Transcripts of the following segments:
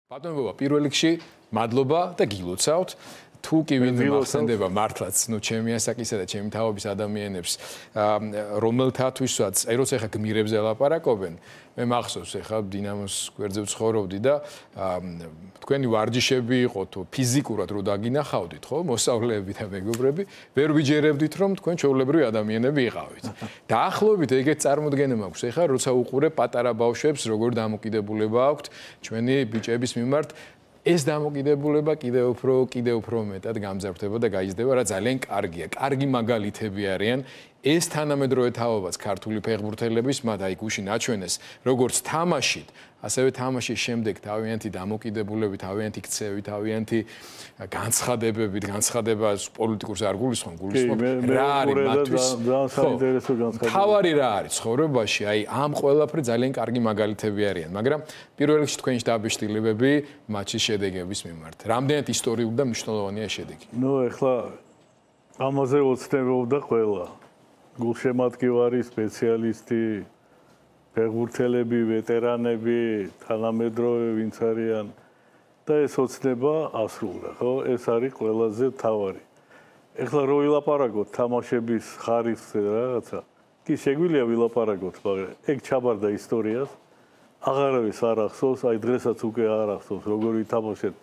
ბატონო, პირველ რიგში მადლობა და გილოცავთ. თუ კი ვინმე მახსენდება მართლაც, ჩემი ასაკისა და ჩემი თაობის ადამიანებს, რომელთათვისაც, როცა ახლა გმირებზე ლაპარაკობენ, მე მახსოვს ახლა დინამოს გვერდზე ვცხოვრობდი და თქვენი ვარჯიშები იყო თუ ფიზიკურად რო დაგინახავდით, ხო, მოსწავლეები და მეგობრები, ვერ ვიჯერებდით რომ თქვენ ჩვეულებრივი ადამიანები იყავით. დაახლოებით ეგეთ წარმოდგენა მაქვს ახლა, როცა უყურებ პატარა ბავშვებს, როგორ დამოკიდებულება აქვთ ჩვენი ბიჭების მიმართ. ეს დამოკიდებულება კიდევ უფრო მეტად გამძაფრდება და გაიზრდება, რა ძალიან კარგია. კარგი მაგალითები არიან. ეს თანამედროვე თაობაც ქართული ფეხბურთელების მათ აი გუშინ აჩვენეს, როგორც თამაშით, ასევე თამაშის შემდეგ თავიანთი დამოკიდებულებით, თავიანთი ქცევით, თავიანთი განცხადებებით, განცხადება პოლიტიკურს არ გულისხმობ, გულისხმობ რა არის მათთვის ძალიან საინტერესო განცხადება. თავარი რა არის ცხოვრებაში, აი ამ ყველაფერი ძალიან კარგი მაგალითები არიან, მაგრამ პირველ რიგში თქვენი შტაბის-შტილებები მატჩის შედეგების მიმართ. რამდენად ისტორიული და მნიშვნელოვანია შედეგი? ეხლა ამაზე ოცნებობდა ყველა. გულშემატკივარი, სპეციალისტი, ფეხბურთელები, ვეტერანები, თანამედროვე ვინც არიან და ეს ოცნება ასრულდა, ხო? ეს არის ყველაზე მთავარი. ეხლა რო ვილაპარაკოთ თამაშების ხარისხზე რაღაცა, კი შეგვიძლია ვილაპარაკოთ, მაგრამ ეგ ჩაბარდა ისტორიას. აღარავის არ ახსოვს, აი დღესაც უკვე არ ახსოვს, როგორი თამაშეთ,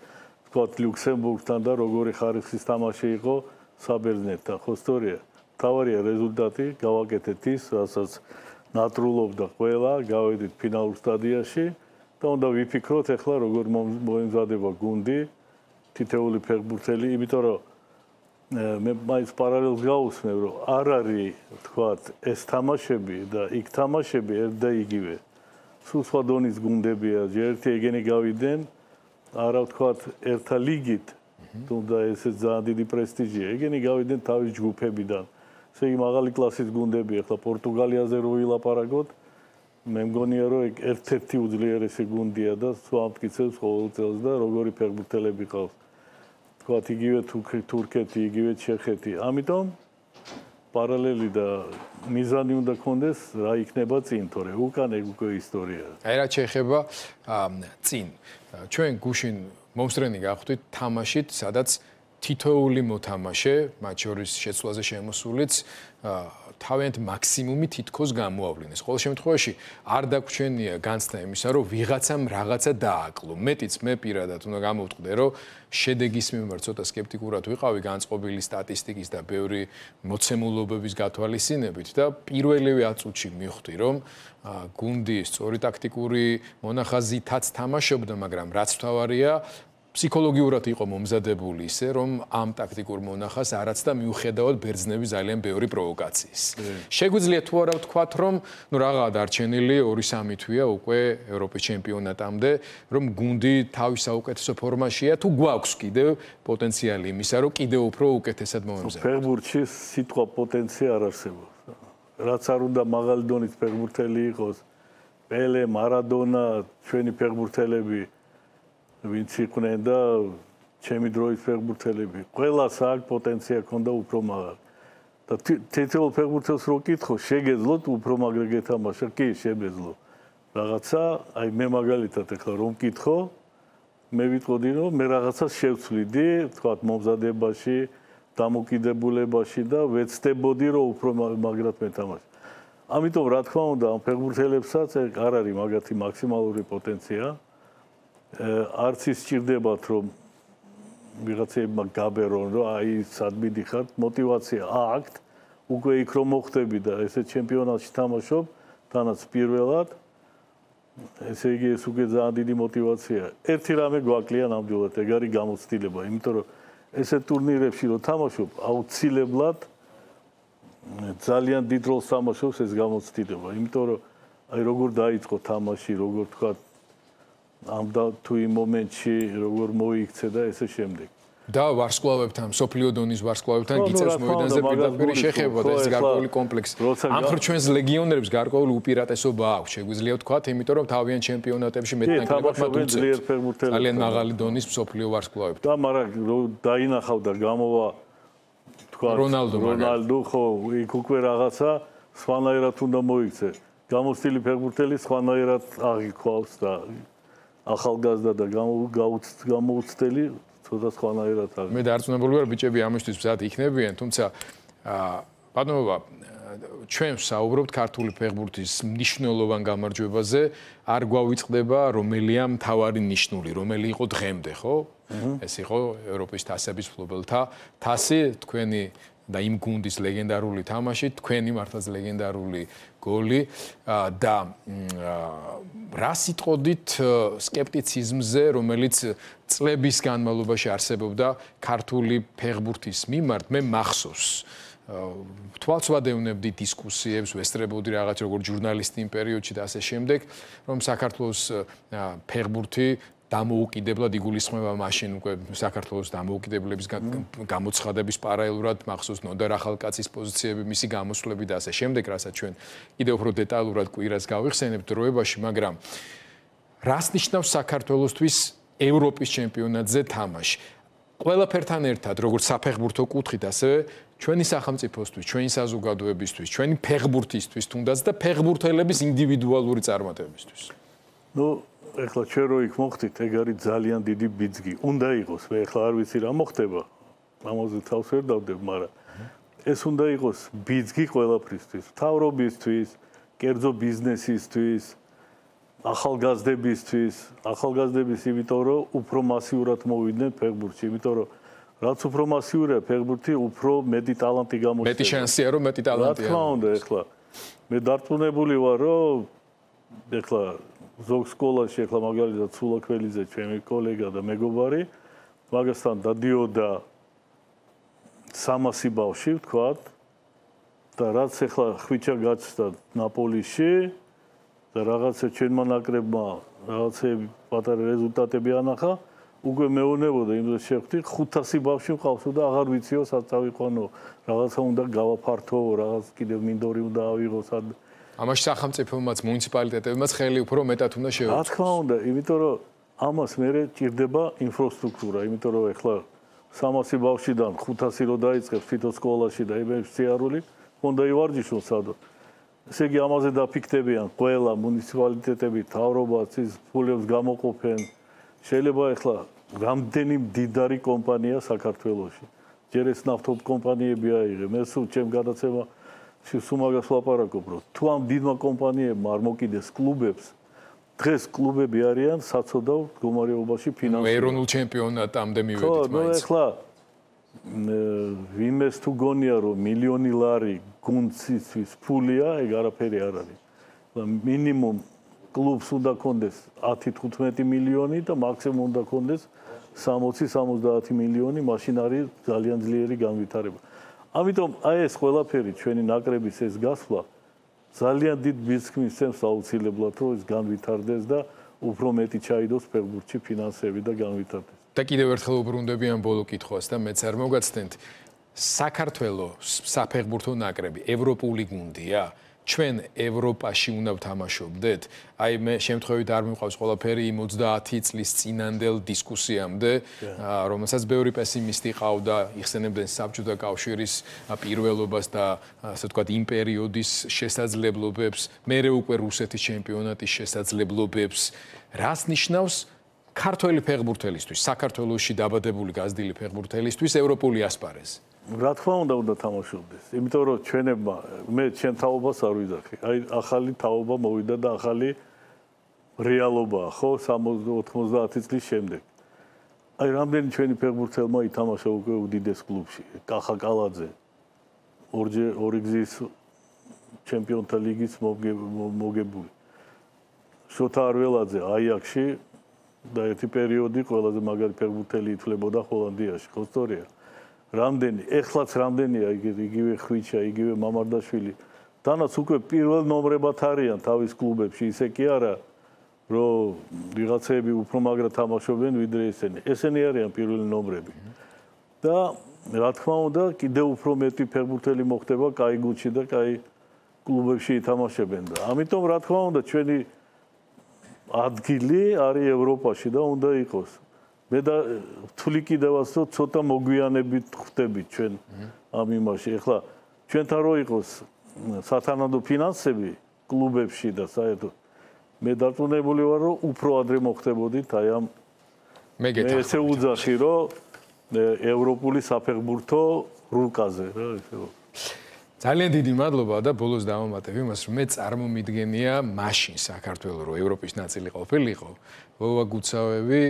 თქვათ ლუქსემბურგთან და როგორი ხარისხის თამაში იყო საბერძნეთთან, ხო სწორია? თავარია რეზულტატი, გავაკეთეთ ის, რასაც ნატრულობდა ყველა, გავედით ფინალურ სტადიაში და უნდა ვიფიქროთ ახლა როგორ მოემზადება გუნდი, თითეული ფეხბურთელი, იმიტომ რომ მე მაინც პარალელს გავუსმევ, რომ არ არის, თქვათ, ეს თამაშები და იქ თამაშები ერთ და იგივე. სულ სხვა დონის გუნდებია, ერთი ეგენი გავიდნენ, არა ვთქვათ, ერთა ლიგით, თუმცა ესე ძალიან დიდი პრესტიჟია. ეგენი გავიდნენ თავის ჯგუფებიდან. ესე იგი მაღალი კლასის გუნდები, ახლა პორტუგალიაზე რო ვილაპარაკოთ, მე მგონია რომ ეგ ერთ-ერთი უძლიერესი გუნდია და სულ ამტკიცებს ყოველ წელს და როგორი ფეხბურთელები ყავს. თქვათ იგივე თურქეთი, იგივე ჩეხეთი. ამიტომ პარალელი და მიზანი უნდა კონდეს რა იქნება წინ, თორე უკან ეგ უკვე ისტორია. აი რა შეეხება წინ. ჩვენ გუშინ მომსწრენი გავხდით თამაშით, სადაც თითოეული მოთამაშე, მათ შორის შეცვლაზე შემოსულიც, თავიანთ მაქსიმუმი თითქოს გამოავლინეს. ყოველ შემთხვევაში არ დაგვრჩენია განცდა იმისა, რომ ვიღაცამ რაღაცა დააკლო. მეტიც მე პირადად უნდა გამოვტყდე, რომ შედეგის მიმართ ცოტა სკეპტიკურად ვიყავი განწყობილი სტატისტიკის და ბევრი მოცემულობების გათვალისწინებით და პირველივე აწუთში მივხვდი, რომ გუნდი სწორი ტაქტიკური მონახაზითაც თამაშობდა, მაგრამ რაც მთავარია, ფსიქოლოგიურად იყო მომზადებული ისე, რომ ამ ტაქტიკურ მონახას არაც და მიუხედავად ბერძნების ძალიან ბევრი პროვოკაციის. შეგვიძლია თუ არა ვთქვათ, რომ რაღაცა დარჩენილი 2-3 თვეა უკვე ევროპის ჩემპიონატამდე, რომ გუნდი თავის საუკეთესო ფორმაშია, თუ გვაქვს კიდევ პოტენციალი იმისა, რომ კიდევ უფრო უკეთესად მოემზადოთ. ფეხბურთში სიტყვა პოტენცია არ არსებობს. რაც არ უნდა მაღალი დონის ფეხბურთელი იყოს, პელე, მარადონა, ჩვენი ფეხბურთელები ვინც იყვნენ და ჩემი დროის ფეხბურთელები, ყველას აქ პოტენცია ქონდა უფრო მაღალი. და თითოეულ ფეხბურთელს რო კითხო, შეგეძლოთ უფრო მაგრა გეთამაშა? კი, შეგეძლო. რაღაცა, აი მე მაგალითად ახლა რომ კითხო, მე ვიტყოდი რომ მე რაღაცას შევცვლიდი, თქვათ მომზადებაში, დამოკიდებულებაში და ვეცდებოდი რომ უფრო მაგრად მეთამაშე. ამიტომ რა თქმა უნდა, ამ ფეხბურთელებსაც არ არის მაგათი მაქსიმალური პოტენცია. არც ის სჭირდებათ რომ ვიღაცებმა გაბერონ რომ აი სადმი დიხართ, мотиваცია აქვთ, უკვე იქ რომ მოხდები და ესე ჩემპიონატში თამაშობ, თანაც პირველად, ესე იგი ეს უკვე ძალიან დიდი мотиваცია. ერთი რამე გვაკლია ნამდვილად, ეგ არის გამოცდილება, იმიტომ რომ ესე ტურნირებში რომ თამაშობ, აუცილებლად ძალიან დიდ როლს თამაშობს ეს გამოცდილება, იმიტომ რომ აი როგორ დაიწყო თამაში, როგორ თქვა ამ და თუ იმ მომენტში როგორ მოიქცე და ესე შემდეგ. და ვარსკვლავებთან, სოფლიო დონის ვარსკვლავებთან გიწევს მოედანზე პირდაპირ შეხება და ეს გარკვეული კომპლექსი. ამ ჩვენს ლეგიონერებს გარკვეული უპირატესობა აქვს, შეგვიძლია ვთქვათ, იმიტომ რომ თავიანთ ჩემპიონატებში მეტნაკლებად მათ უწევს ძალიან მაღალი დონის სოფლიო ვარსკვლავებთან. და მაგრამ დაინახავ და გამოვა თქვათ რონალდო, ხო, იქ უკვე რაღაცა სხვანაირად უნდა მოიქცე. გამოცდილი ფეხბურთელი სხვანაირად აღიქვავს და ახალგაზრდა და გამოუცდელი ცოტა სხვანაირად არის. მე დარწმუნებული ვარ ბიჭები ამისთვის მზად იქნებიან, თუმცა ბატონობა ჩვენ ვსაუბრობთ ქართული ფეხბურთის მნიშვნელოვან გამარჯვებაზე, არ გვავიწყდება რომელია მთავარი ნიშნული, რომელი იყო დღემდე, ხო? ეს იყო ევროპის თასების მფლობელთა თასი, თქვენი და იმ გუნდის ლეგენდარული თამაში, თქვენი მართლაც ლეგენდარული გოლი და რა სიტყოდით სკეპტიციზმზე, რომელიც წლების განმავლობაში არსებობდა ქართული ფეხბურთის მიმართ, მე მახსოვს თვალს ვადევნებდი დისკუსიებს, ვესწრებოდი რაღაც როგორ ჟურნალისტი იმ პერიოდში და ასე შემდეგ, რომ საქართველოს ფეხბურთი დამოუკიდებლად იგულისხმება მაშინ უკვე საქართველოს დამოუკიდებლების გამოცხადების პარალელურად მახსოვს ნოდარ ახალკაცის პოზიციები, მისი გამოსვლები და ასე შემდეგ, რასაც ჩვენ კიდევ უფრო დეტალურად კვირას გავიხსენებთ დროებაში, მაგრამ რას ნიშნავს საქართველოსთვის ევროპის ჩემპიონატზე თამაში? ყველაფერთან ერთად, როგორც საფეხბურთო კუთხით, ასევე ჩვენი სახელმწიფოსთვის, ჩვენი საზოგადოებისთვის, ჩვენი ფეხბურთისთვის თუნდაც და ფეხბურთელების ინდივიდუალური წარმატებისთვის. ეხლა ჩვენ რო იქ მოხდით, ეგ არის ძალიან დიდი ბიძგი. უნდა იყოს, მე ეხლა არ ვიცი რა მოხდება. ამაზე თავს ვერ დავდებ, მაგრამ ეს უნდა იყოს ბიძგი ყველაფრისთვის, მთავრობისთვის, კერძო ბიზნესისთვის, ახალგაზრდებისთვის, იმიტომ რომ უფრო მასიურად მოვიდნენ ფეხბურთში, იმიტომ რომ რაც უფრო მასიურია ფეხბურთი, უფრო მეტი ტალანტი გამოჩნდება. მეტი შანსია რომ მეტი ტალანტია. რა თქმა უნდა, ეხლა მე დარწმუნებული ვარ, რომ ეხლა ზოგ სკოლაში ეხლა მაგალითად სულაკველიძე ჩემი კოლეგა და მეგობარი მაგასთან დადიოდა 300 ბავშვი ვთქვათ და რაც ეხლა ხვიჩა გაჩნდა ნაპოლიში და რაღაცა ჩვენმა ნაკრებმა რაღაცები პატარა რეზულტატები ანახა უკვე მეუბნებოდა იმ დროს შევხვდი 500 ბავშვი მყავს და აღარ ვიციო სად წავიყვანო რაღაცა უნდა გავაფართო რაღაც კიდევ მინდორი უნდა ავიღო სად ამაში სახელმწიფომაც მუნიციპალიტეტებმაც ხელი უფრო მეტად უნდა შეუწყოს. რა თქმა უნდა, იმიტომ რომ ამას მერე ჭირდება ინფრასტრუქტურა, იმიტომ რომ ეხლა 300 ბავშვიდან 500 რო დაიწყებს თვითონ სკოლაში და იმებს სიარული, უნდა ივარჯიშონ სადო. ესე იგი ამაზე დაფიქრდებიან ყველა მუნიციპალიტეტები, თავრობაც ის ფულებს გამოყოფენ. შეიძლება ეხლა რამდენი მდიდარი კომპანია საქართველოში. ჯერ ეს ნავთობ კომპანიები აიღე, მე სულ ჩემ გადაცემა სუმაგას ვლაპარაკობ, რომ თუ ამ დიდმა კომპანიებმა არ მოკიდეს კლუბებს, დღეს კლუბები არიან საცოდავ მდგომარეობაში ფინანსურად. ეროვნულ ჩემპიონატამდე მივედით ხო, მაინც. ეხლა ვინმეს თუ გონია, რომ მილიონი ლარი გუნდისთვის ფულია, ეგ არაფერი არ არის. მინიმუმ კლუბს უნდა კონდეს 10-15 მილიონი და მაქსიმუმ უნდა კონდეს 60-70 მილიონი, მაშინ არის ძალიან ძლიერი განვითარება. ამიტომ აი ეს ყველაფერი ჩვენი ნაკრების ეს გასვლა ძალიან დიდ ბიზნესს წევს აუცილებლად რომ ეს განვითარდეს და უფრო მეტი ჩაიდოს ფეხბურთში ფინანსები და განვითარდეს. და კიდევ ერთხელ უბრუნდები ამ ბოლო კითხვას და მეც არ მოგაცდენთ საქართველოს საფეხბურთო ნაკრები ევროპული გუნდია? ჩვენ ევროპაში უნდა ვთამაშობდეთ? აი მე შემთხვევით არ მიყვავს ყველაფერი იმ 30 წლის წინანდელ დისკუსიამდე, რომელსაც ბევრი პესიმისტი ყავდა, იხსენებდნენ საბჭოთა კავშირის პირველობას და ასე ვთქვათ იმ პერიოდის შესაძლებლობებს, მერე უკვე რუსეთის ჩემპიონატის შესაძლებლობებს. რას ნიშნავს ქართველი ფეხბურთელისთვის, საქართველოში დაბადებული გაზრდილი ფეხბურთელისთვის ევროპული ასპარეზი? რა თქმა უნდა თამაშობდეს. იმიტომ რომ ჩვენებმა მე ჩემ თაობას არ ვიძახი. აი ახალი თაობა მოვიდა და ახალი რეალობაა, ხო, 60-90 წლის შემდეგ. აი რამდენი ჩვენი ფეხბურთელმა ითამაშა უკვე უდიდეს კლუბში. კახა კალაძე ორი გზის ჩემპიონთა ლიგის მოგებული. შოთა არველაძე აიაქსში და ერთი პერიოდი ყველაზე მაგარი ფეხბურთელი ითვლებოდა ჰოლანდიაში, ხო სწორია? რამდენი, ეხლაც რამდენია იგივე ხვიჩა, იგივე მამარდაშვილი. თანაც უკვე პირველ ნომრებად არიან თავის კლუბებში, ისე კი არა, რომ ვიღაცები უფრო მაგრა თამაშობენ ვიდრე ესენი. ესენი არიან პირველი ნომრები. და რა თქმა უნდა, კიდევ უფრო მეტი ფეხბურთელი მოხდება კაი გუნდში და კაი კლუბებში ითამაშებენ და ამიტომ რა თქმა უნდა ჩვენი ადგილი არის ევროპაში და უნდა იყოს. მე და ვთვლი კიდევაც რომ ცოტა მოგვიანებით ხვდებით ჩვენ ამ იმაში. ეხლა ჩვენთან რო იყოს სათანადო ფინანსები კლუბებში და საერთოდ მე დარწმუნებული ვარ, რომ უფრო ადრე მოხდებოდით აი ამ მე ესე უძახი, რომ ევროპული საფეხბურთო რუკაზე რა ესე რომ ძალიან დიდი მადლობა და ბოლოს დავამატებ იმას, რომ მე წარმომიდგენია მაშინ საქართველოს რო ევროპის ნაწილი ყოფილიყო, ვოვა გუცავები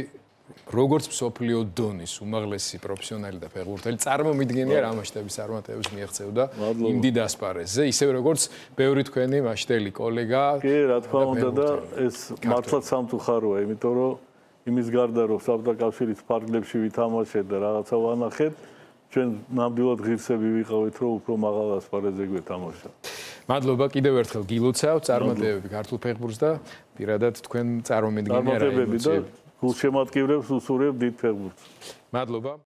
როგორც მსოფლიო დონის უმაღლესი პროფესიონალი და ფეხბურთელი წარმომიდგენია რა მასშტაბის წარმატებებს მიაღწევდა იმ დიდ ასპარეზზე, ისევ როგორც ბევრი თქვენი მასშტაბელი კოლეგა. კი, რა თქმა უნდა და ეს მართლაც სამწუხაროა, იმიტომ რომ იმის გარდა რომ საბჭოთა კავშირის ფარგლებში ვითამაშეთ და რაღაცა ვანახეთ, ჩვენ ნამდვილად ღირსები ვიყავით, რომ უფრო მაღალ ასპარეზზე გვეთამაშა. მადლობა კიდევ ერთხელ გილოცავ, წარმატებები ქართულ ფეხბურთს და პირადად თქვენ წარმომიდგენია რა გულშემატკივრებს უსურვებ დიდ ფეხბურთს. მადლობა.